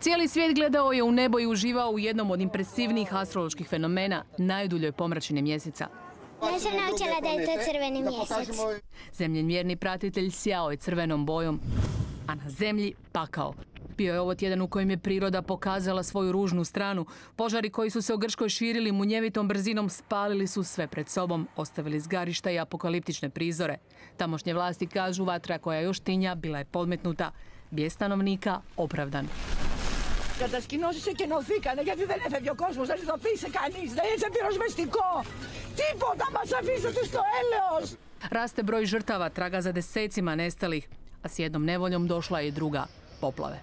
Cijeli svijet gledao je u nebo i uživao u jednom od impresivnijih astroloških fenomena, najduljoj pomračine mjeseca. Ja sam naučila da je to crveni mjesec. Zemljenmjerni pratitelj sjao je crvenom bojom, a na zemlji pakao. Bio je ovo tjedan u kojem je priroda pokazala svoju ružnu stranu. Požari koji su se u Grčkoj širili munjevitom brzinom spalili su sve pred sobom, ostavili zgarišta i apokaliptične prizore. Tamošnje vlasti kažu vatra koja još tinja bila je podmetnuta. Bijes stanovnika opravdan. Κατασκηνώσεις εκενωθήκανε γιατί δεν έφευγε ο κόσμος, δεν ειδοποίησε κανείς, δεν είσαι πυροσβεστικό. Τίποτα μας αφήσατε στο έλεος. Raste broj žrtava, traga za desecima nestalih, a s jednom nevoljom došla je i druga, poplave.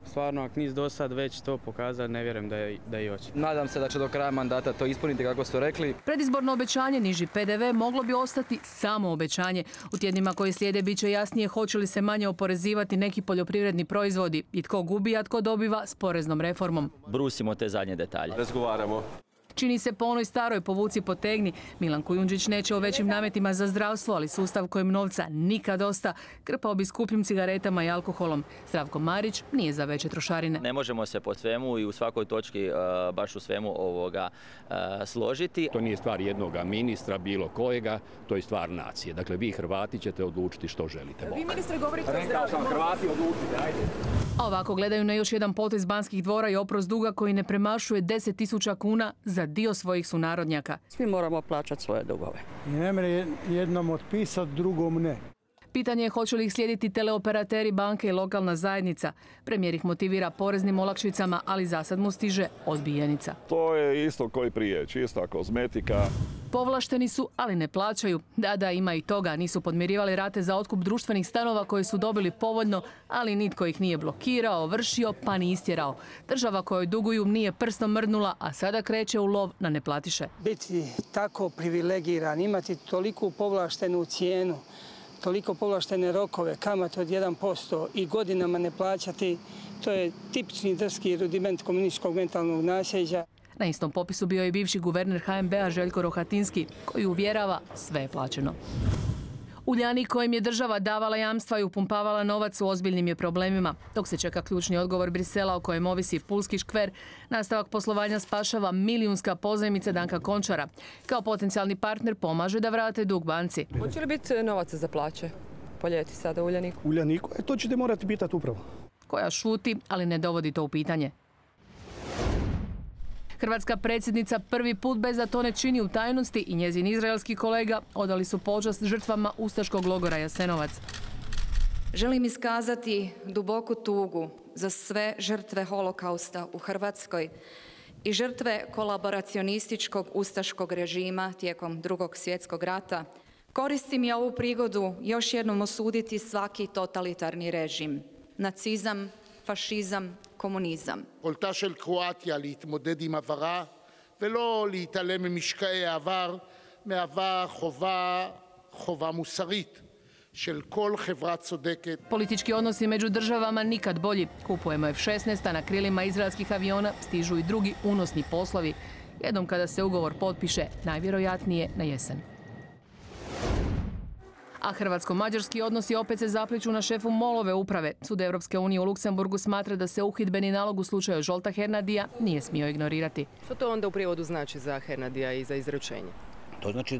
Stvarno, ako nis do sad već to pokazali, ne vjerujem da i hoće. Nadam se da će do kraja mandata to ispuniti kako su rekli. Predizborno obećanje, niži PDV, moglo bi ostati samo obećanje. U tjednima koji slijede bit će jasnije hoće li se manje oporezivati neki poljoprivredni proizvodi i tko gubi, a tko dobiva s poreznom reformom. Brusimo te zadnje detalje. Razgovaramo. Čini se po onoj staroj povuci potegni. Milan Kujundžić neće o većim nametima za zdravstvo, ali sustav kojem novca nikad dosta krpao bi skupljim cigaretama i alkoholom. Zdravko Marić nije za veće trošarine. Ne možemo se po svemu i u svakoj točki baš u svemu složiti. To nije stvar jednoga ministra, bilo kojega, to je stvar nacije. Dakle, vi Hrvati ćete odlučiti što želite. Vi ministre govorite o zdravlju. Rekao sam, Hrvati odlučite, ajde. A ovako gledaju na još jedan potez Banskih dvora i oprost duga koji ne premašuje 10.000 kuna za dio svojih sunarodnjaka. Svi moramo plaćati svoje dugove. I ne mre jednom otpisati, drugom ne. Pitanje je hoće li ih slijediti teleoperateri, banke i lokalna zajednica. Premijer ih motivira poreznim olakšicama, ali zasad mu stiže odbijenica. To je isto koji prije, čista kozmetika. Povlašteni su, ali ne plaćaju. Da, ima i toga. Nisu podmirivali rate za otkup društvenih stanova koje su dobili povoljno, ali nitko ih nije blokirao, ovršio pa ni istjerao. Država kojoj duguju nije prstom mrdnula, a sada kreće u lov na neplatiše. Biti tako privilegiran, imati toliku povlaštenu cijenu, toliko povlaštene rokove, kamate od 1% i godinama ne plaćati, to je tipični drski rudiment komunističkog mentalnog nasljeđa. Na istom popisu bio je bivši guverner HNB-a Željko Rohatinski, koji uvjerava sve je plaćeno. Uljanik kojem je država davala jamstva i upumpavala novac u ozbiljnim je problemima. Dok se čeka ključni odgovor Brisela o kojem ovisi Pulski škver, nastavak poslovanja spašava milijunska pozajmica Danka Končara. Kao potencijalni partner pomaže da vrate dug banci. Hoće li biti novaca za plaće po ljeti sada Uljaniku? Uljaniku? To ćete morati pitati upravo. Koja šuti, ali ne dovodi to u pitanje. Hrvatska predsjednica prvi put bez da to ne čini u tajnosti i njezin izraelski kolega odali su počast žrtvama ustaškog logora Jasenovac. Želim iskazati duboku tugu za sve žrtve holokausta u Hrvatskoj i žrtve kolaboracionističkog ustaškog režima tijekom Drugog svjetskog rata. Koristim i ovu prigodu još jednom osuditi svaki totalitarni režim. Nacizam, fašizam, קומוניזם. יכולתה של קרואטיה להתמודד עם עברה ולא להתעלם ממשקעי העבר מהווה חובה מוסרית של כל חברה צודקת. Politički odnosi među državama nikad bolji. Kupujemo F-16, a na krilima izraelskih aviona stižu i drugi unosni poslovi. Jednom kada se ugovor potpiše, najvjerojatnije na jesen. A hrvatsko-mađarski odnosi opet se zapliću na šefu MOL-ove uprave. Sud Europske unije u Luksemburgu smatra da se uhidbeni nalog u slučaju Zsolta Hernadija nije smio ignorirati. Što to onda u prijevodu znači za Hernadija i za izručenje? To znači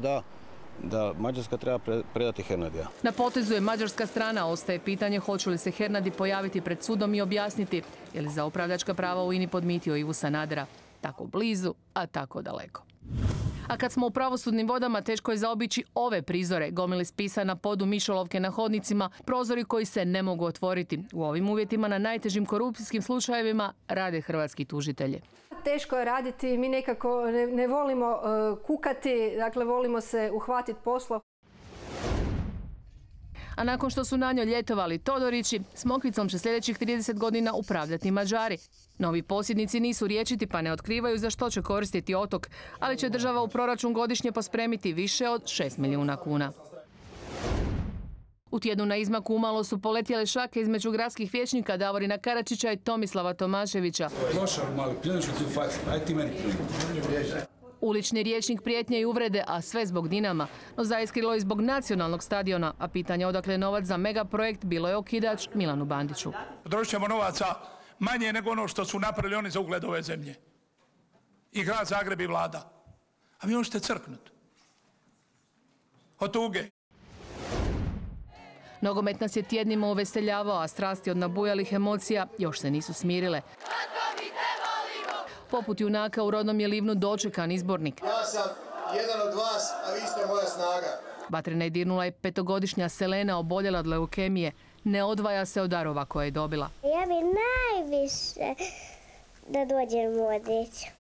da Mađarska treba predati Hernadija. Na potezu je mađarska strana, ostaje pitanje hoće li se Hernadi pojaviti pred sudom i objasniti je li za upravljačka prava u INA-i podmitio Ivu Sanadera. Tako blizu, a tako daleko. A kad smo u pravosudnim vodama, teško je zaobići ove prizore. Gomile spisa na podu, mišolovke na hodnicima, prozori koji se ne mogu otvoriti. U ovim uvjetima na najtežim korupcijskim slučajevima rade hrvatski tužitelji. Teško je raditi, mi nekako ne volimo kukati, dakle volimo se uhvatiti posla. A nakon što su na njoj ljetovali Todorići, Smokvicom će sljedećih 30 godina upravljati Mađari. Novi posjednici nisu rječiti pa ne otkrivaju za što će koristiti otok, ali će država u proračun godišnje pospremiti više od 6 milijuna kuna. U tjednu na izmaku umalo su poletjele šake između gradskih vijećnika Davorina Karačića i Tomislava Tomaševića. Ulični rječnik prijetnje i uvrede, a sve zbog Dinama. No zaiskrilo i zbog nacionalnog stadiona, a pitanje odakle novac za megaprojekt bilo je okidač Milanu Bandiću. Potrošit ćemo novaca manje nego ono što su napravili oni za ugled ove zemlje. I grad Zagreb i vlada. A vi možete crknuti. Od tuge. Nogomet nas je tjednima uveseljavao, a strasti od nabujalih emocija još se nisu smirile. Poput junaka u rodnom je Livnu dočekan izbornik. Ja sam jedan od vas, a vi ste moja snaga. Vatrena je dirnula i 5-godišnja Selena, oboljela od leukemije. Ne odvaja se od darova koje je dobila. Ja bi najviše da dođem u Odriću.